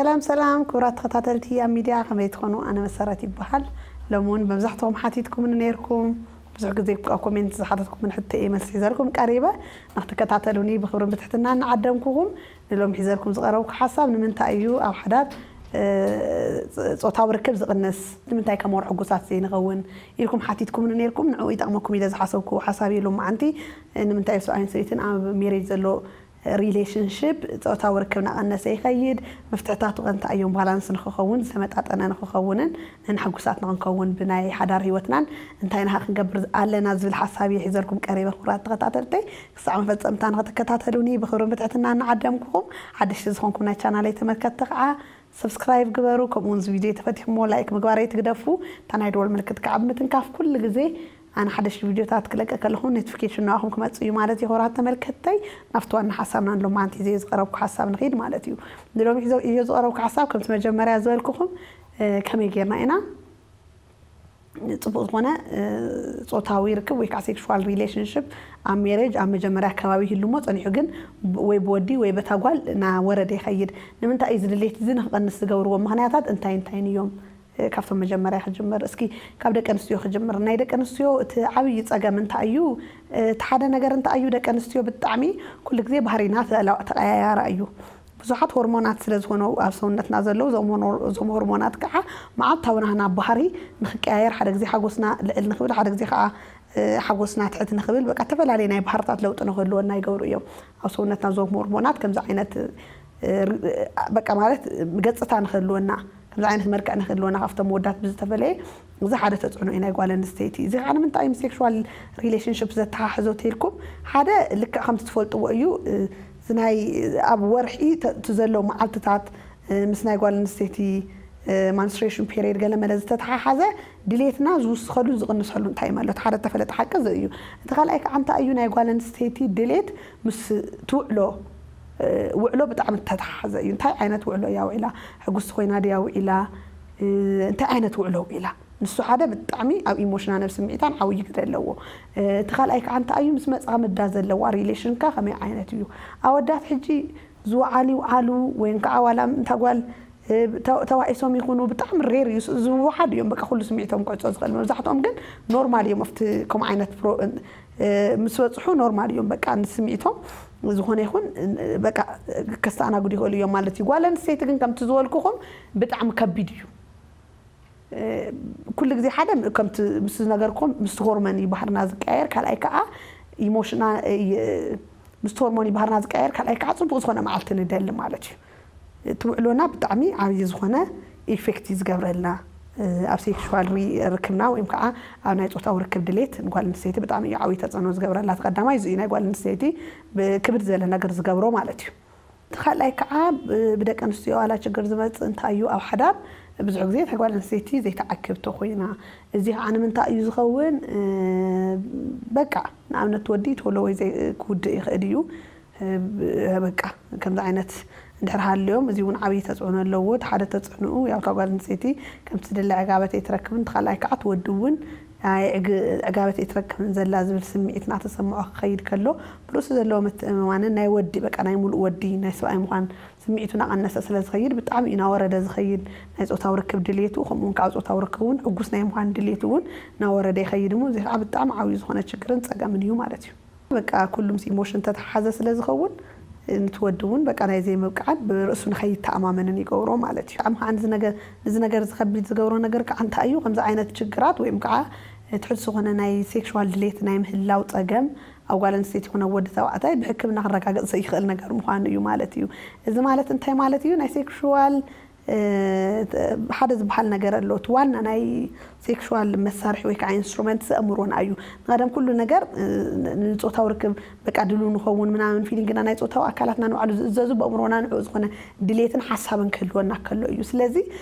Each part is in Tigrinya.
ሰላም ሰላም፣ ክቡራት ተኸታተልቲ ኣብ ሚድያ ከመይ ትኾኑ? ኣነ መሰረት ይበሃል። ሎሚ እውን መብዛሕትኹም ሓቲትኩምኒ ነይርኩም። ብዙሕ ግዜ ኣብ ኮሜንት ዝሓተትኩምን ሕቶ እየ መልሲ ሒዘልኩም ቀሪበ። ንክትከታተሉኒ ብክብርን ብትሕትና እናዓደምኩኹም፣ ንሎሚ ሒዘልኩም ዝቐረብኩ ሓሳብ ንምንታይ እዩ ኣብ ሓዳር እ፣ ጾታዊ ርክብ ዝቕንስ? ንምንታይ ከም ወር ሕጉሳት ዘይንኸውን ኢልኩም ሓቲትኩምኒ ነይርኩም። ንዕኡ ይጠቕመኩም ኢለ ዝሓሰብኩ ሓሳብ እዩ። ሎማዓንቲ ንምንታይ ሰብኣይን ሰበይትን ኣብ ሜሬጅ ዘሎ ሪሌሽንሽፕ ጾታዊ ርክብ እናቐነሰ ይኸይድ፣ መፍትሕታቱ ከ እንታይ እዮም? ባላንስ ንክኸውን፣ ዝተመጣጠነ ንክኸውንን ንሕጉሳት ንክንከውን ብናይ ሓዳር ህይወትናን እንታይ ናሃ ክንገብር ኣለና ዝብል ሓሳብ እየ ሒዘልኩም ቀሪበ። ክቡራት ተኸታተልተይ፣ ክሳዕ መፈጸምታ ንክትከታተሉኒ ብክብርን ብትሕትና እናዓደምኩኹም፣ ሓደሽቲ ዝኾንኩም ናይ ቻናለይ ተመልከትቲ ከዓ ሰብስክራይብ ግበሩ። ከምኡ እውን እዚ ቪድዮ ተፈቲኹሞ ላይክ ምግባር ኣይትግደፉ። እታ ናይ ደወል ምልክት ከዓ ብምትንካፍ ኩሉ ግዜ ኣነ ሓደሽቲ ቪድዮታት ክለቀ ከለኹ ኖቲፊኬሽን ንዓኹም ክመጽእ እዩ ማለት እዩ። ክቡራት ተመልከትተይ፣ ናብቲ ዋና ሓሳብና ንሎማዓንቲ ሒዘዮ ዝቐረብኩ ሓሳብ ንኸይድ ማለት እዩ። ንሎሚ ሒዘ እዮ ዝቐረብኩ ሓሳብ ከምቲ መጀመርያ ዝበልኩኹም፣ እ፣ ከመይ ጌርና ኢና ጽቡቕ ዝኾነ፣ እ፣ ጾታዊ ርክብ ወይ ከዓ ሴክሹዋል ሪሌሽንሽፕ ኣብ ሜሬጅ ኣብ መጀመርያ ኣከባቢ ይህሉ እሞ ጸኒሑ ግን ብ-፣ ወይ ብወዲ ወይ በታ ጓል እናወረደ ይኸይድ። ንምንታይ እዩ እዚ ድሌት እዚ ንክቐንስ ዝገብርዎ ምኽንያታት እንታይ እንታይን እዮም? እ፣ ካብቶም መጀመርያ ክጅምር፣ እስኪ ካብ ደቂ ኣንስትዮ ክጅምር። ናይ ደቂ ኣንስትዮ እቲ ዓብዪ ጸገም እንታይ እዩ? እ፣ እቲ ሓደ ነገር እንታይ እዩ? ደቂ ኣንስትዮ ብጣዕሚ ኩሉ ግዜ ባህሪና ተላ-፣ ተቐያያሪ እዩ። ብዙሓት ሆርሞናት ስለ ዝኾኑ ኣብ ሰውነትና ዘለዉ፣ እዞም ሆኖ-፣ እዞም ሆርሞናት ከዓ መዓልታዊ ናህና ባህሪ ንክቀያየር፣ ሓደ ግዜ ሓጎስና ልዕል ንክብል፣ ሓደ ግዜ ከዓ፣ እ፣ ሓጎስና ትሕት ንክብል፣ በቃ፣ ዝተፈላለየ ናይ ባህርታት ለውጢ ንክህልወና ይገብሩ እዮም። ኣብ ሰውነትና እዞም ሆርሞናት ከምዚ ዓይነት፣ እ፣ ር-፣ በቃ፣ ማለት፣ ገጽታ ንክህልወና፣ ከምዚ ዓይነት መልክዕ ንክህልወና ካብቶም መወዳት ብዝተፈለየ፣ እዚ ሓደ ተጽዕኖ እዩ ናይ ጓል ኣንስተይቲ። እዚ ከዓ ንምንታይ ምስ ሴክሹዋል ሪሌሽንሽፕ ዘተሓሕዞ ተልኩም? ሓደ፣ ልክዕ ከምቲ ትፈልጥዎ እዩ፣ እ፣ እዚ ናይ ኣብ ወርሒ ተ-፣ እቲ ዘሎ መዓልትታት፣ እ፣ ምስ ናይ ጓል ኣንስተይቲ፣ እ፣ ማንስትሬሽን ፔሪየድ ገለ መለ ዝተተሓሓዘ ድሌትና ዝውስኸሉን ዝቕንሰሉ እንታይ እዩ ማለት ሓደ ተፈለጠ ሓቂ እዚ እዩ። እቲ ካልኣይ ከዓ እንታይ እዩ? ናይ ጓል ኣንስተይቲ ድሌት ምስ ትውዕሎ፣ እ፣ ውዕሎ ብጣዕሚ ዝተተሓሓዘ እዩ። እንታይ ዓይነት ውዕሎ እያ ውዒላ? ሕጉስቲ ኮይና ድያ ውዒላ? እ፣ እንታይ ዓይነት ውዕሎ ውዒላ? ንሱ ሓደ ብጣዕሚ ኣብ ኢሞሽናን ኣብ ስምዒታን ዓብዪ ግደ ኣለዎ። እ፣ እቲ ካልኣይ ከዓ እንታይ እዩ? ምስ መጻምዳ ዘለዋ ሪሌሽንካ ከመይ ዓይነት እዩ? ኣወዳት ሕጂ ዝወዓሉ ይውዓሉ፣ ወይም ከዓ ዋላ እንታ ጓል፣ እ፣ ተ-፣ ተዋኢሶም ይኹኑ፣ ብጣዕሚ ሬር እዩ። ዝወሓዱ እዮም፣ በቃ፣ ኩሉ ስምዒቶም ክዕጾ ዝኽእል። መብዛሕትኦም ግን ኖርማል እዮም። ኣብቲ ከምኡ ዓይነት ፕሮ-፣ እ፣ ምስ በጽሑ ኖርማል እዮም። በቃ፣ ንስምዒቶም ዝኾነ ይኹን፣ እ፣ በቃ፣ ከስተኣናግዱ ይኽእሉ እዮም ማለት እዩ። ጓል ኣንስተይቲ ግን ከምቲ ዝበልኩኹም ብጣዕሚ ከቢድ እዩ። እ፣ ኩሉ ግዜ ሓደ ከምቲ ምስ ዝነገርኩም ምስቲ ሆርሞን እዩ ባህርና ዝቀያየር፣ ካልኣይ ከዓ ኢሞሽና-፣ እ፣ ምስቲ ሆርሞን እዩ ባህርና ዝቀያየር፣ ካልኣይ ከዓ ጽቡቕ ዝኾነ መዓልቲ ንደሊ ማለት እዩ። እቲ ውዕሎና ብጣዕሚ ዓብዪ ዝኾነ ኢፌክት እዩ ዝገብረልና፣ እ፣ ኣብ ሴክሹዋል ሪ-፣ ርክብና ወይም ከዓ ኣብ ናይ ጾታዊ ርክብ ድሌት ንጓል ኣንስተይቲ ብጣዕሚ እዩ ዓብዪ ተጽዕኖ ዝገብረላ። እቲ ቀዳማይ እዚ እዩ፣ ናይ ጓል ኣንስተይቲ ብ-፣ ክብድ ዝበለ ነገር ዝገብሮ ማለት እዩ። እቲ ካልኣይ ከዓ ብ-፣ ብደቂ ኣንስትዮ ዋላ ችግር ዝመጽእ እንታይ እዩ? ኣብ ሓዳር ብዙሕ ግዜ እታ ጓል ኣንስተይቲ ዘይተዓክብ ተኮይና፣ እዚ ከዓ ንምንታይ እዩ ዝኸውን? እ፣ በቃ፣ ንኣብነት፣ ወዲ ተሎ ወይ ዘይ-፣ ክውድእ ይኽእል እዩ። እ፣ ብ-፣ በቃ፣ ከምዚ ዓይነት እንድሕር ሃልዮም፣ እዚ እውን ዓብዪ ተጽዕኖ ኣለዎ። እቲ ሓደ ተጽዕኖኡ፣ ያው፣ እታ ጓል ኣንስተይቲ ከምቲ ትደሊ ዕጋበት ኣይትረክብን፣ እቲ ካልኣይ ከዓ እቲ ወዲ እውን ኣይ ዕግ-፣ ዕጋበት ኣይትረክብን ዘላ ዝብል ስምዒት እናተሰምዖ ክኸይድ ከሎ፣ ብርእሱ ዘለዎ ምትእምማንን ናይ ወዲ፣ በቃ፣ ናይ ሙሉእ ወዲ፣ ናይ ሰብኣይ ምዃን ስምዒቱ እናቐነሰ ስለ ዝኸይድ፣ ብጣዕሚ እዩ እናወረደ ዝኸይድ። ናይ ጾታዊ ርክብ ድሌቱ፣ ከምኡ እውን ከዓ ጾታዊ ርክብ እውን ሕጉስ ናይ ምዃን ድሌቱ እውን እናወረደ ይኸይድ እሞ፣ እዚ ከዓ ብጣዕሚ ዓብዪ ዝኾነ ችግርን ጸገምን እዩ ማለት እዩ። በቃ፣ ኩሉ ምስ ኢሞሽን ተተሓሓዘ ስለ ዝኸውን፣ ንቲ ወዲ እውን፣ በቃ፣ ናይ ዘይምብቃዕን ብርእሱ ንኸይተኣማመንን ይገብሮ ማለት እዩ። ብጣዕሚ ከዓ ንዚ ነገር፣ ንዚ ነገር እዚ ከቢድ ዝገብሮ ነገር ከዓ እንታይ እዩ? ከምዚ ዓይነት ችግራት ወይም ከዓ ትሑት ዝኾነ ናይ ሴክሹዋል ድሌት ናይ ምህላው ጸገም ኣብ ጓል ኣንስተይቲ ይኹን ኣብ ወዲ ተባዕታይ ብሕክምና ክረጋገጽ ዘይክእል ነገር ምዃኑ እዩ ማለት እዩ። እዚ ማለት እንታይ ማለት እዩ? ናይ ሴክሹዋል፣ እ፣ ሓደ ዝበሃል ነገር ኣሎ። እቲ ዋና ናይ ሴክሹዋል መሳርሒ ወይ ከዓ ኢንስትሩመንት እዚ ኣእምሮና እዩ። ንቐደም ኩሉ ነገር፣ እ፣ ን-፣ ንጾታዊ ርክብ በቃ ድሉ ንኸውን ምናምን ፊሊንግና ናይ ጾታዊ ኣካላትና ንባዕሉ ዝእዘዙ ብኣእምሮና ንዕኡ ዝኾነ ድሌትን ሓሳብን ክህልወና ከሎ እዩ። ስለዚ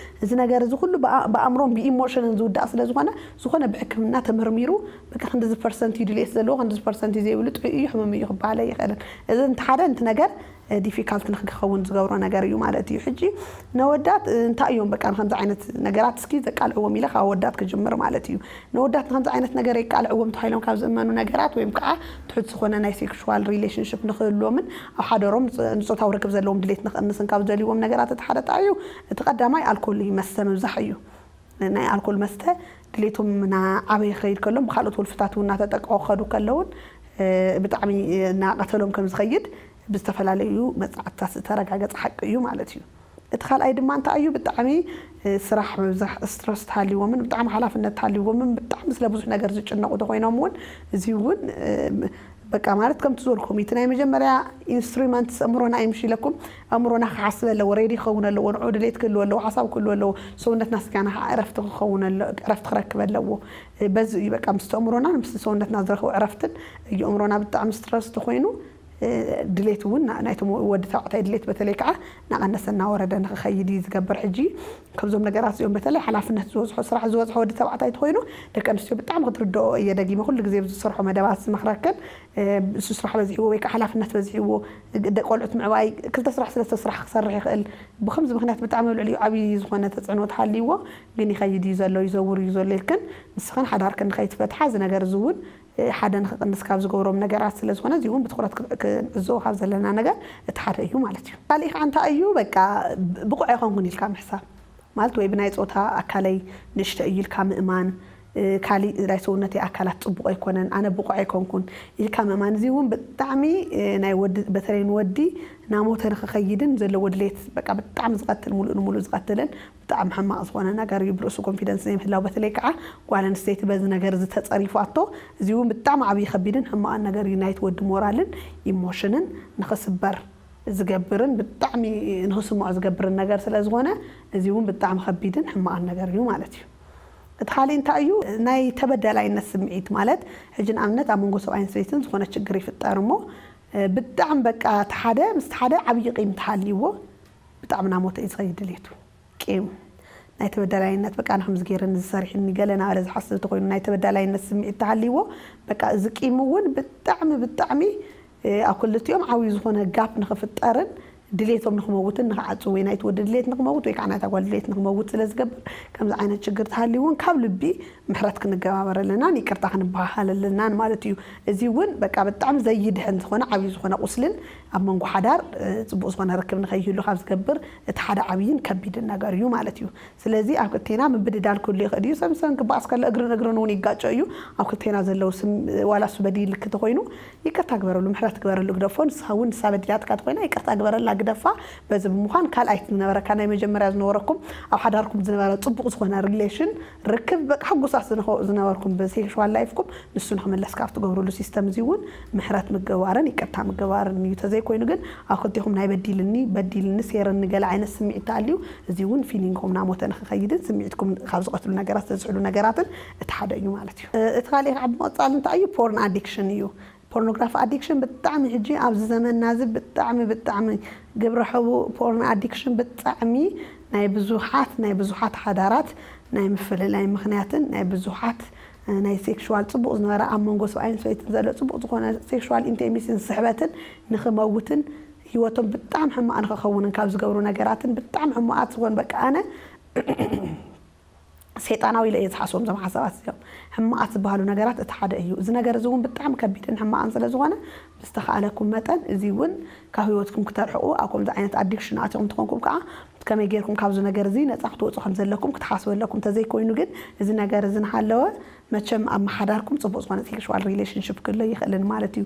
እዚ ነገር እዚ ኩሉ ብኣ-፣ ብኣእምሮን ብኢሞሽንን ዝውዳእ ስለ ዝኾነ፣ ዝኾነ ብሕክምና ተመርሚሩ በቃ ክንድዚ ፐርሰንት እዩ ድሌት ዘለዎ፣ ክንድዚ ፐርሰንት እዩ ዘይብሉ፣ ጥዑይ እዩ፣ ሕሙም እዩ ክበሃል ኣይኽእልን። እዚ እንተ ሓደ፣ እንተ ነገር ዲፊካልት ንክኸውን ዝገብሮ ነገር እዩ ማለት እዩ። ሕጂ ነወዳት እንታይ እዮም በቃ ንከምዚ ዓይነት ነገራት እስኪ ዘቃልዕዎም ኢለ ካብ ወዳት ክጅምር ማለት እዩ። ነወዳት ንከምዚ ዓይነት ነገር የቃልዕዎም ተባሂሎም ካብ ዝእመኑ ነገራት ወይም ከዓ ትሑት ዝኾነ ናይ ሴክሹዋል ሪሌሽንሽፕ ንክህልዎምን ኣብ ሓደሮም ንፆታዊ ርክብ ዘለዎም ድሌት ንክእንስን ካብ ዘልዎም ነገራት እቲ ሓደ ጣዩ እቲ ቀዳማይ ኣልኮል እዩ። መስተ ምብዛሕ እዩ። ናይ ኣልኮል መስተ ድሌቶም እናዓበየ ክኸይድ ከሎ ብካልኦት ወልፍታት እውን እናተጠቀዑ ክኸዱ ከለውን ብጣዕሚ እናቀተሎም ከም ዝኸይድ ብዝተፈላለዩ መፅናዕትታት ዝተረጋገፀ ሓቂ እዩ ማለት እዩ። እቲ ካልኣይ ድማ እንታይ እዩ ብጣዕሚ ስራሕ ምብዛሕ ስትረስ ተሃልዎምን ብጣዕሚ ሓላፍነት ተሃልዎምን ብጣዕሚ ስለ ብዙሕ ነገር ዝጭነቑ ተኮይኖም እውን እዚ እውን በቃ ማለት ከምቲ ዝበልኩም እቲ ናይ መጀመርያ ኢንስትሩመንት ኣእምሮና እዩ ምሽ ኢለኩም። ኣእምሮና ክሓስብ ኣለዎ፣ ሬዲ ክኸውን ኣለዎ፣ ንዑ ድሌት ክህልዎ ኣለዎ፣ ሓሳብ ክህልዎ ኣለዎ። ሰውነትና ስጋና ከዓ ዕረፍቲ ክኸውን እረፍቲ ክረክብ ኣለዎ። በዚ እዩ በቃ ምስ ኣእምሮና ምስ ሰውነትና ዝረክቡ ዕረፍትን እዩ ኣእምሮና ብጣዕሚ ስትረስ ተኮይኑ ድሌት እውን ናይቶም ወዲ ተባዕታይ ድሌት በተለይ ከዓ እናቀነሰ እናወረደ ንክኸይድ እዩ ዝገብር። ሕጂ ከምዞም ነገራት እዚኦም በተለይ ሓላፍነት ዝበዝሖ ስራሕ ዝበዝሖ ወዲ ተባዕታይ ተኮይኑ ደቂ ኣንስትዮ ብጣዕሚ ክትርድኦ እየ ደጊመ ኩሉ ግዜ ዝሰርሖ መደባት ዝመክረክን እሱ ስራሕ በዚሕዎ ወይ ከዓ ሓላፍነት በዚሕዎ ደቂ ቆልዑት ምዕባይ ክልተ ስራሕ ስለስተ ስራሕ ክሰርሕ ይኽእል። ብከምዚ ምክንያት ብጣዕሚ ኣብ ልዕሊኡ ዓብዪ ዝኾነ ተፅዕኖ ተሃልይዎ ግን ይኸይድ እዩ ዘሎ ይዘውር እዩ ዘሎ ኢልክን ንስኽን ሓዳርክን ንኸይትፈትሓ እዚ ነገር እዚ እውን ሓደ ንክቕንስ ካብ ዝገብሮም ነገራት ስለ ዝኾነ እዚ እውን ብትኩረት ክንዕዘቦ ካብ ዘለና ነገር እቲ ሓደ እዩ ማለት እዩ። ካሊእ ከዓ እንታይ እዩ በቃ ብቑዕ ኣይኮንኩን ኢልካ ምሕሳብ ማለት ወይ ብናይ ፆታ ኣካለይ ንእሽተ እዩ ኢልካ ምእማን ካሊእ ናይ ሰውነተይ ኣካላት ፅቡቕ ኣይኮነን ኣነ ብቑዕ ኣይኮንኩን ኢልካ ምእማን እዚ እውን ብጣዕሚ ናይ ወዲ በተለይ ንወዲ ናሞተ ንክኸይድን ዘለዎ ድሌት በቃ ብጣዕሚ ዝቐትል ሙሉእ ንሙሉእ ዝቐትልን ብጣዕሚ ሕማቕ ዝኾነ ነገር እዩ ብርእሱ ኮንፊደንስ ዘይምህላው በተለይ ከዓ ጓል ኣንስተይቲ በዚ ነገር ዝተፀሪፋቶ እዚ እውን ብጣዕሚ ዓብዪ ከቢድን ሕማቕን ነገር እዩ ናይቲ ወዲ ሞራልን ኢሞሽንን ንክስበር ዝገብርን ብጣዕሚ ንክስምዖ ዝገብርን ነገር ስለ ዝኾነ እዚ እውን ብጣዕሚ ከቢድን ሕማቕን ነገር እዩ ማለት እዩ። እቲ ካሊእ እንታይ እዩ ናይ ተበዳላይነት ስምዒት ማለት ሕጂ ንኣብነት ኣብ መንጎ ሰብኣይን ሰበይትን ዝኾነ ችግር ይፍጠር እሞ ብጣዕሚ በቃ እቲ ሓደ ምስቲ ሓደ ዓብዪ ቂም ተሃልይዎ ብጣዕሚ ናሞተ እዩ ዝኸይድ ድሌቱ ቂም ናይ ተበዳላይነት በቃ ንከምዚ ገይረኒ ዝሰሪሕኒ ገለ ናበለ ዝሓስብ ተኮይኑ ናይ ተበዳላይነት ስምዒት ተሃልይዎ በቃ እዚ ቂም እውን ብጣዕሚ ብጣዕሚ ኣብ ክልቲኦም ዓብዩ ዝኾነ ጋፕ ንክፍጠርን ድሌቶም ንክመውትን ንክዓፅው ወይ ናይቲ ወዲ ድሌት ንክመውት ወይ ከዓ ናይታ ጓል ድሌት ንክመውት ስለ ዝገብር ከምዚ ዓይነት ችግር ተሃልዩ እውን ካብ ልቢ ምሕረት ክንገባበር ኣለናን ይቅርታ ክንበሃሃል ኣለናን ማለት እዩ። እዚ እውን በቃ ብጣዕሚ ዘይድሕን ዝኾነ ዓብዩ ዝኾነ ቁስልን ኣብ መንጎ ሓዳር ፅቡቅ ዝኾነ ርክብ ንከይህሉ ካብ ዝገብር እቲ ሓደ ዓብይን ከቢድን ነገር እዩ ማለት እዩ። ስለዚ ኣብ ክልቴና ምብድዳል ክህሉ ይኽእል እዩ። ሰምሰም ክበኣስ ከሎ እግርን እግርን እውን ይጋጨ እዩ። ኣብ ክልቴና ዘለዉ ስም ዋላ እሱ በዲልክ ተኮይኑ ይቅርታ ግበረሉ፣ ምሕረት ግበረሉ፣ ግደፎ። ንስኻ እውን ንሳ በዲላትካ ተኮይና ይቅርታ ግበረላ፣ ግደፋ። በዚ ብምዃን ካልኣይቲ ዝነበረካ ናይ መጀመርያ ዝነበረኩም ኣብ ሓዳርኩም ዝነበረ ፅቡቅ ዝኾነ ሪሌሽን ርክብ በቃ ሕጉሳት ዝነበርኩም ብሴክሽዋል ላይፍኩም ንሱ ንክምለስ ካብ ትገብርሉ ሲስተም እዚ እውን ምሕረት ምግባርን ይቅርታ ምግባርን እዩ። ተዘይኮይኑ ግን ኣብ ክልቴኹም ናይ በዲልኒ በዲልኒ ሴርኒ ገለ ዓይነት ስምዒት ተኣልዩ እዚ እውን ፊሊንግኹም ናሞተ ንክኸይድን ስምዒትኩም ካብ ዝቐትሉ ነገራት ዘዝሕሉ ነገራትን እቲ ሓደ እዩ ማለት እዩ። እቲ ካሊእ ከዓ ብምቕፃል እንታይ እዩ ፖርን ኣዲክሽን እዩ። ፖርኖግራፊ ኣዲክሽን ብጣዕሚ ሕጂ ኣብዚ ዘመንና እዚ ብጣዕሚ ብጣዕሚ ግብረ ሕቡእ ፖርን ኣዲክሽን ብጣዕሚ ናይ ብዙሓት ናይ ብዙሓት ሓዳራት ናይ ምፍልላይ ምኽንያትን ናይ ብዙሓት ናይ ሴክሽዋል ፅቡቕ ዝነበረ ኣብ መንጎ ሰብኣይን ሰበይትን ዘሎ ፅቡቕ ዝኾነ ሴክሽዋል ኢንቲሜሲን ስሕበትን ንክመውትን ህይወቶም ብጣዕሚ ሕማቕ ንክኸውንን ካብ ዝገብሩ ነገራትን ብጣዕሚ ሕማቓት ዝኾኑ በቃ ኣነ ሰይጣናዊ ኢለ እየ ዝሓስቦም እዞም ሓሳባት እዚኦም ሕማቓት ዝበሃሉ ነገራት እቲ ሓደ እዩ። እዚ ነገር እዚ እውን ብጣዕሚ ከቢድን ሕማቕን ስለ ዝኾነ ብዝተኻእለኩም መጠን እዚ እውን ካብ ህይወትኩም ክተርሕቑ ኣብ ከምዚ ዓይነት ኣዲክሽን ኣቲኹም ትኾንኩም ከዓ ከመይ ጌርኩም ካብዚ ነገር እዚ ነፃ ክትወፁ ከም ዘለኩም ክትሓስቡ ኣለኩም። እንተዘይኮይኑ ግን እዚ ነገር እዚ ንሃለወ መቸም ኣብ መሓዳርኩም ፅቡቅ ዝኾነ ሴክሽዋል ሪሌሽንሽፕ ክህሎ ይኽእልን ማለት እዩ።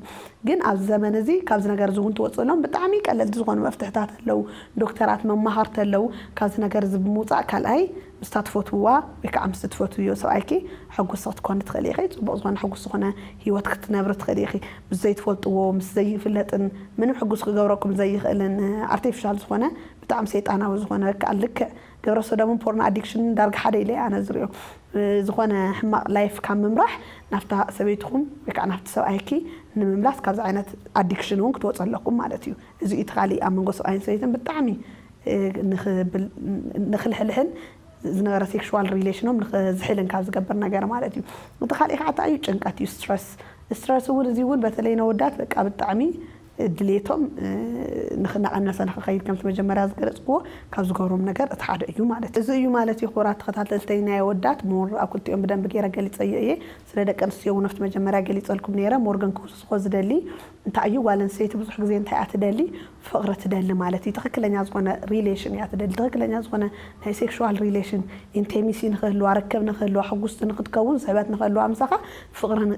ግን ኣብዚ ዘመን እዚ ካብዚ ነገር እዚ እውን ትወፅእሎም ብጣዕሚ ቀለልቲ ዝኾኑ መፍትሕታት ኣለዉ። ዶክተራት መማኸርቲ ኣለዉ። ካብዚ ነገር እዚ ብምውፃእ ካልኣይ ምስታ ትፈትውዋ ወይ ከዓ ምስ ትፈትውዮ ሰብኣይኪ ሕጉስ ክትኮኒ ትኽእል ኢኺ። ፅቡቅ ዝኾነ ሕጉስ ዝኾነ ህይወት ክትነብሪ ትኽእል ኢኺ። ምስ ዘይትፈልጥዎ ምስ ዘይፍለጥን ምንም ሕጉስ ክገብረኩም ዘይኽእልን ኣርቲፊሻል ዝኾነ ብጣዕሚ ሰይጣናዊ ዝኾነ ከዓ ልክዕ ግብረ ሰዶምን ፖርን ኣዲክሽንን ዳርጋ ሓደ ኢለ ኣነ ዝሪኦ ዝኾነ ሕማቕ ላይፍ ካብ ምምራሕ ናብታ ሰበይትኹም ወይ ከዓ ናብቲ ሰብኣይኪ ንምምላስ ካብዚ ዓይነት ኣዲክሽን እውን ክትወፁ ኣለኩም ማለት እዩ። እዚ እቲ ካሊእ ኣብ መንጎ ሰብኣይን ሰበይትን ብጣዕሚ ንክልሕልሕን ዝነበረ ሴክሽዋል ሪሌሽኖም ንክዝሕልን ካብ ዝገብር ነገር ማለት እዩ። እቲ ካሊእ ከዓ እንታይ እዩ ጭንቀት እዩ ስትረስ። ስትረስ እውን እዚ እውን በተለይ ነወዳት በቃ ብጣዕሚ ድሌቶም ንክናቐነሰ ንክኸይድ ከምቲ መጀመርያ ዝገለፅክዎ ካብ ዝገብሮም ነገር እቲ ሓደ እዩ ማለት እዩ። እዚ እዩ ማለት እዩ ክቡራት ተኸታተልተይ ናይ ኣወዳት ሞር ኣብ ክልቲኦም ብደንብ ገይረ ገሊፀዮ እየ። ስለ ደቂ ኣንስትዮ እውን ኣብቲ መጀመርያ ገሊፀልኩም ነይረ። ሞር ግን ክውስኮ ዝደሊ እንታይ እዩ ጓል ኣንስተይቲ ብዙሕ ግዜ እንታይ እያ ትደሊ? ፍቕሪ ትደሊ ማለት እዩ። ትኽክለኛ ዝኾነ relation እያ ትደሊ። ትኽክለኛ ዝኾነ ናይ sexual relation intimacy ንክህልዋ፣ ርክብ ንክህልዋ፣ ሕጉስቲ ንክትከውን፣ ስሕበት ንክህልዋ ምሳኻ ፍቕርን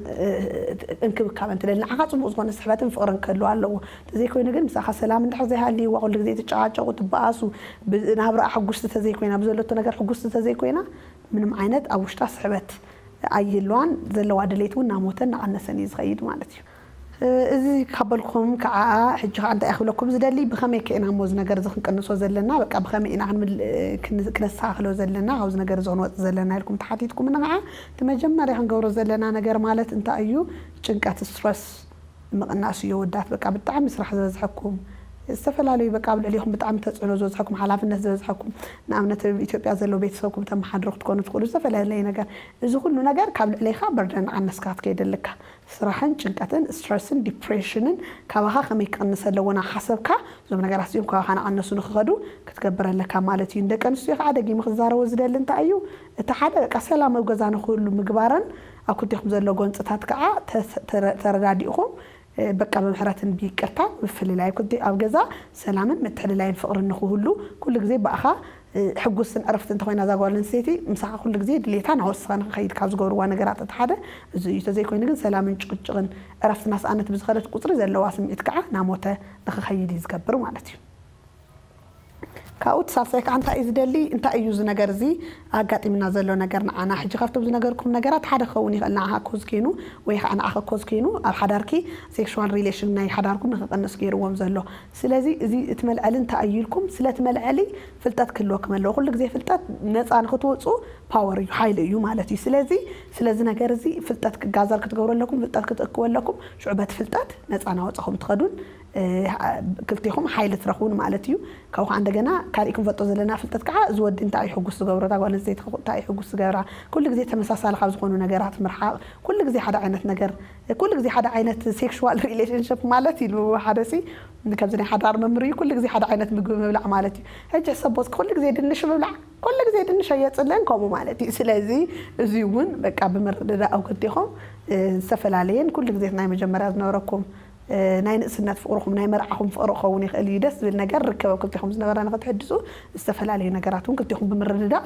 እንክብካበን ትደሊ። ንዓኻ ፅቡቕ ዝኾነ ስሕበትን ፍቕርን ክህልዋ ኣለዎ። ተዘይኮይኑ ግን ምሳኻ ሰላም እንድሕር ዘይሃልይዋ፣ ኩሉ ግዜ ትጨቃጨቁ፣ ትበኣሱ፣ ናብራኣ ሕጉስቲ ተዘይኮይና፣ ብዘለቶ ነገር ሕጉስቲ ተዘይኮይና ምንም ዓይነት ኣብ ውሽጣ ስሕበት ኣይህልዋን፣ ዘለዋ ድሌት እውን እናሞተ እናቐነሰን እዩ ዝኸይድ ማለት እዩ። እዚ ካብ በልኩም ከዓ ሕጂ ከዓ እንታይ ክብለኩም ዝደሊ፣ ብኸመይ ከ ኢና እሞ እዚ ነገር እዚ ክንቅንሶ ዘለና? በቃ ብኸመይ ኢና ክንስተካክሎ ዘለና ካብዚ ነገር እዚ ክንወፅ ዘለና ኢልኩም ተሓቲትኩም ንዓ። እቲ መጀመርያ ክንገብሮ ዘለና ነገር ማለት እንታይ እዩ? ጭንቀት፣ ስትረስ ምቕናስ እዩ። ወዳት በቃ ብጣዕሚ ስራሕ ዝበዝሐኩም፣ ዝተፈላለዩ በቃ ኣብ ልዕሊኹም ብጣዕሚ ተፅዕኖ ዝበዝሐኩም፣ ሓላፍነት ዝበዝሐኩም፣ ንኣብነት ኣብ ኢትዮጵያ ዘለዉ ቤተሰብኩም ተመሓድሩ ክትኮኑ ትኽእሉ፣ ዝተፈላለየ ነገር፣ እዚ ኩሉ ነገር ካብ ልዕሌኻ በርደን ኣነስካ ክትከይድ ኣለካ። ስራሕን ጭንቀትን ስትረስን ዲፕሬሽንን ካባኻ ከመይ ክቕንስ ኣለዎ እናሓሰብካ እዞም ነገራት እዚኦም ካባኻ እናቐነሱ ንክኸዱ ክትገብር ኣለካ ማለት እዩ። ንደቂ ኣንስትዮ ከዓ ደጊመ ክዛረቦ ዝደሊ እንታይ እዩ፣ እቲ ሓደ በቃ ሰላም ኣብ ገዛ ንክህሉ ምግባረን ኣብ ክልቴኹም ዘሎ ጎንፅታት ከዓ ተረዳዲእኹም በቃ ብምሕረትን ብይቅርታን ምፍልላይ ኣብ ገዛ ሰላምን ምትሕልላይን ፍቕርን ንክህሉ ኩሉ ግዜ ብኣኻ ሕጉስን ዕረፍቲ እንተኮይና እዛ ጓል ኣንስተይቲ ምሳኻ ኩሉ ግዜ ድሌታ ናወስኻ ንክኸይድ ካብ ዝገብርዋ ነገራት እቲ ሓደ እዚ እዩ። ተዘይኮይኑ ግን ሰላምን ጭቅጭቅን ዕረፍቲ ናስኣነት ብዝኸደት ቁፅሪ ዘለዋ ስምዒት ከዓ ናሞተ ንክኸይድ እዩ ዝገብር ማለት እዩ። ካብኡ እቲ ሳልሳይ ከዓ እንታይ እዩ ዝደሊ? እንታይ እዩ እዚ ነገር እዚ ኣጋጢምና ዘሎ ነገር ንዓና? ሕጂ ካብቶም ዝነገርኩም ነገራት ሓደ ክኸውን ይኽእል፣ ንዓኻ ኮዝ ኮይኑ ወይ ከዓ ንዓኻ ኮዝ ኮይኑ ኣብ ሓዳርኪ ሴክሹዋል ሪሌሽን ናይ ሓዳርኩም ንክቕንስ ገይርዎም ዘሎ። ስለዚ እዚ እቲ መልዐሊ እንታይ እዩ ኢልኩም፣ ስለቲ መልዐሊ ፍልጠት ክህልወኩም ኣለዎ። ኩሉ ግዜ ፍልጠት ነፃ ንክትወፁ ፓወር እዩ፣ ሓይሊ እዩ ማለት እዩ። ስለዚ ስለዚ ነገር እዚ ፍልጠት ክጋዘር ክትገብሩ ኣለኩም፣ ፍልጠት ክትእክቡ ኣለኩም። ሽዑ በቲ ፍልጠት ነፃ ናወፃኹም ትኸዱን ክልቲኹም ሓይሊ ትረኽቡን ማለት እዩ። ካብኡ ከዓ እንደገና ካሊእ ክንፈልጦ ዘለና ፍልጠት ከዓ እዚ ወዲ እንታይ እዩ ሕጉስ ዝገብሮ፣ እታ ጓል ኣንስተይቲ እንታይ እዩ ሕጉስ ዝገብራ፣ ኩሉ ግዜ ተመሳሳሊ ካብ ዝኾኑ ነገራት ምርሓቕ፣ ኩሉ ግዜ ሓደ ዓይነት ነገር፣ ኩሉ ግዜ ሓደ ዓይነት ሴክሹዋል ሪሌሽንሽፕ ማለት ኢሉ ሓደ ሲ ከምዚ ናይ ሓዳር መምህር እዩ፣ ኩሉ ግዜ ሓደ ዓይነት ምግቢ ምብላዕ ማለት እዩ። ሕጂ ሕሰቦ እስኪ ኩሉ ግዜ ድንሽ ምብላዕ፣ ኩሉ ግዜ ድንሽ ኣየፅለን ከምኡ ማለት እዩ። ስለዚ እዚ እውን በቃ ብምርድዳእ ኣብ ክልቲኹም ዝተፈላለየን ኩሉ ግዜ ናይ መጀመርያ ዝነበረኩም ናይ ንእስነት ፍቕርኹም ናይ መርዓኹም ፍቕሪ ክኸውን ይኽእል እዩ። ደስ ዝብል ነገር ርክብ ኣብ ክልቲኹም ዝነበረ ንክትሕድሱ ዝተፈላለዩ ነገራት እውን ክልቲኹም ብምርድዳእ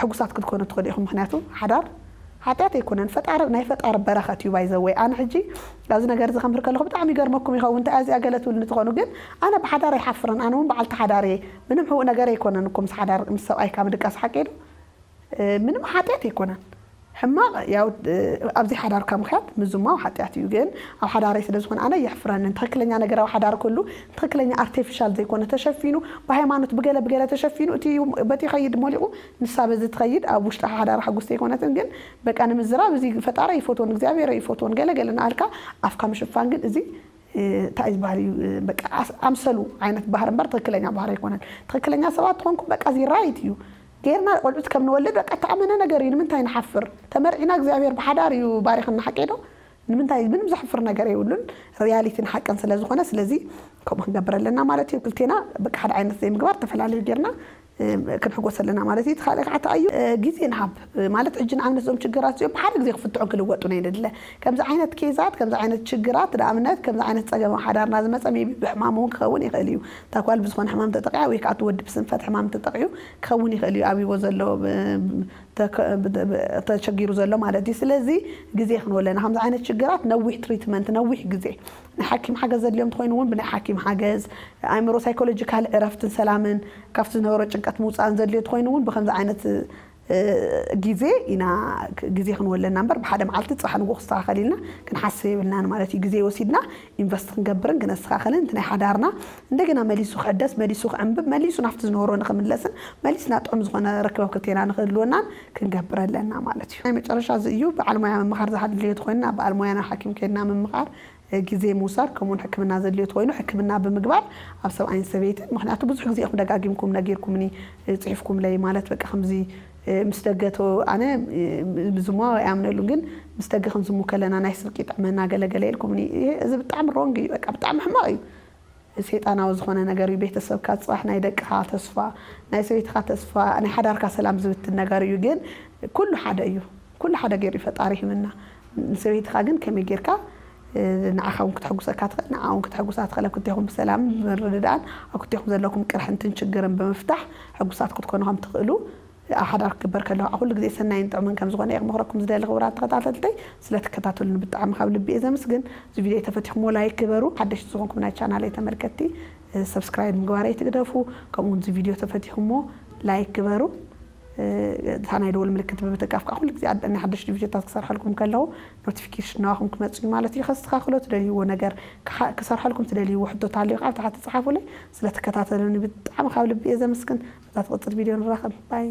ሕጉሳት ክትኮኑ ትኽእሉ ኢኹም። ምክንያቱ ሓዳር ሓጢኣት ኣይኮነን፣ ፈጣሪ ናይ ፈጣሪ በረኸት እዩ። ባይዘወይ ኣነ ሕጂ ኣብዚ ነገር እዚ ከምር ከለኹ ብጣዕሚ ይገርመኩም ይኸውን እንታይ እዚኣ ገለ ትብል እንትኾኑ፣ ግን ኣነ ብሓዳር ኣይሓፍርን። ኣነ እውን በዓልቲ ሓዳር እየ። ምንም ሕቡእ ነገር ኣይኮነን እኮ ምስ ሓዳር ምስ ሰብኣይካ ምድቃስ ሓቂ ዶ? ምንም ሓጢኣት ኣይኮነን። ሕማቕ ያው ኣብዚ ሓዳርካ ምኽያድ ምዝማው ሓጢኣት እዩ፣ ግን ኣብ ሓዳረይ ስለ ዝኾነ ኣነ የሕፍረንን። ትኽክለኛ ነገር ኣብ ሓዳር ከሉ ትኽክለኛ ኣርቲፊሻል ዘይኮነ ተሸፊኑ ብሃይማኖት ብገለ ብገለ ተሸፊኑ እቲ በቲ ይኸይድ ሞሊቑ ንሳ በዚ ትኸይድ ኣብ ውሽጢ ሓዳር ሓጉስ ዘይኮነትን፣ ግን በቃ ንምዝራብ እዚ ፈጣሪ ይፈትዎን እግዚኣብሔር ይፈትዎን ገለ ገለ እናኣልካ ኣፍካ ምሽፋን ግን እዚ እንታይ ዝበሃል እዩ በቃ ኣምሰሉ ዓይነት ባህሪ እምበር ትኽክለኛ ባህሪ ኣይኮነን። ትኽክለኛ ሰባት ትኾንኩም በቃ እዚ ራይት እዩ። ጌርና ቆልዑት ከም ንወልድ በቃ ተኣመነ ነገር እዩ። ንምንታይ ንሓፍር? ተመርዒና እግዚኣብሔር ብሓዳር እዩ ባሪኽና ሓቂ ዶ? ንምንታይ ምንም ዘሕፍር ነገር የብሉን። ሪያሊቲን ሓቅን ስለ ዝኾነ ስለዚ ከምኡ ክንገብር ኣለና ማለት እዩ። ክልቴና በቃ ሓደ ዓይነት ዘይምግባር ተፈላለዩ ጌርና ክንሕጎስ ኣለና ማለት እዩ። እቲ ካልእ ከዓ ተኣዩ ግዜ ንሃብ ማለት ሕጂ ንኣብነት እዞም ችግራት እዚኦም ብሓደ ግዜ ክፍትሑ ክልወጡ ናይ ንድለ ከምዚ ዓይነት ኬዛት ከምዚ ዓይነት ችግራት ንኣብነት ከምዚ ዓይነት ፀገም ሓዳርና ዝመፀ ቢ ብሕማም እውን ክኸውን ይኽእል እዩ። እታ ጓል ብዝኾነ ሕማም ተጠቂያ ወይ ከዓ እቲ ወዲ ብስንፈት ሕማም ተጠቂዩ ክኸውን ይኽእል እዩ ኣብዎ ዘሎ ተቸጊሩ ዘሎ ማለት እዩ። ስለዚ ግዜ ክንወለና ከምዚ ዓይነት ችግራት ነዊሕ ትሪትመንት ነዊሕ ግዜ ናይ ሓኪም ሓገዝ ዘድልዮም ትኮይኑ እውን ብናይ ሓኪም ሓገዝ ኣእምሮ ሳይኮሎጂካል ዕረፍትን ሰላምን ካብቲ ዝነበሮ ጭንቀት ምውፃእን ዘድልዮ ትኮይኑ እውን ብከምዚ ዓይነት ግዜ ኢና ግዜ ክንወለና እምበር ብሓደ መዓልቲ ፅባሕ ንጎ ክስተካከል ኢልና ክንሓስብ የብልናን ማለት እዩ። ግዜ ወሲድና ኢንቨስት ክንገብርን ክነስተካከልን እቲ ናይ ሓዳርና እንደገና መሊሱ ክሕደስ መሊሱ ክዕንብብ መሊሱ ናብቲ ዝነበሮ ንክምለስን መሊስና ጥዑም ዝኮነ ርክበብ ክልቴና ንክህልወናን ክንገብር ኣለና ማለት እዩ። ናይ መጨረሻ እዚ እዩ። በዓል ሞያ ምምኻር ዝሃድልዮ ተኮይንና በዓል ሞያና ሓኪም ከድና ምምኻር ግዜ ምውሳድ ከምኡውን ሕክምና ዘድልዮ ተኮይኑ ሕክምና ብምግባር ኣብ ሰብኣይን ሰበይትን ምክንያቱ ብዙሕ ግዜ ኢኹም ደጋጊምኩም ነጊርኩምኒ ፅሒፍኩምለይ ማለት በቃ ከምዚ ምስ ደገ ኣነ ዝሙዋ ኣይኣምነሉን፣ ግን ምስ ደገ ክንዝሙ ከለና ናይ ስርቂ ይጥዕመና ገለገለ ኢልኩም፣ እዚ ብጣዕሚ ሮንግ እዩ። በቃ ብጣዕሚ ሕማቕ እዩ። ሰይጣናዊ ዝኾነ ነገር እዩ። ቤተሰብካ ፅባሕ ናይ ደቅኻ ተስፋ፣ ናይ ሰበይትኻ ተስፋ፣ ናይ ሓዳርካ ሰላም ዝብትን ነገር እዩ። ግን ኩሉ ሓደ እዩ። ኩሉ ሓደ ገይሩ ፈጣሪ ሂብና። ንሰበይትኻ ግን ከመይ ጌርካ ንዓኻ እውን ክተሕጉሰካ ትኽእል፣ ንዓ እውን ክተሕጉሳ ትኽእል። ኣብ ክልቴኹም ብሰላም ብምርድዳእን ኣብ ክልቴኹም ዘለኩም ቅርሕንትን ችግርን ብምፍታሕ ሕጉሳት ክትኮኑ ከም ትኽእሉ ኣብ ሓዳር ክግበር ከለኹ ኩሉ ግዜ ሰናይን ጥዑምን ከም ዝኾነ እየ ክመኽረኩም ዝደሊ። ክቡራት ተኸታተልተይ፣ ስለትከታተሉኒ ብጣዕሚ ካብ ልቢ እየ ዘመስግን። እዚ ቪድዮ ተፈቲኹምዎ ላይክ ግበሩ። ሓደሽቲ ዝኾንኩም ናይ ቻናለይ ተመልከትቲ ሰብስክራይብ ምግባር ኣይትግደፉ። ከምኡ እውን እዚ ቪድዮ ተፈቲኹምዎ ላይክ ግበሩ። እታ ናይ ደወል ምልክት ብምትቃፍ ከዓ ኩሉ ግዜ ኣድ- ናይ ሓደሽቲ ቪድዮታት ክሰርሐልኩም ከለኹ ኖቲፊኬሽን ናባኹም ክመፅእ እዩ ማለት እዩ። ከስተኻኽሎ ትደልይዎ ነገር ክሓ- ክሰርሐልኩም ትደልይዎ ሕቶታት ኣለዩ ከዓ ኣብ ታሕቲ ፀሓፉለይ። ስለትከታተሉኒ ብጣዕሚ ካብ ልቢ እየ ዘመስግን። እዛ ትቕፅል ቪድዮ ንራኸብ። ባይ።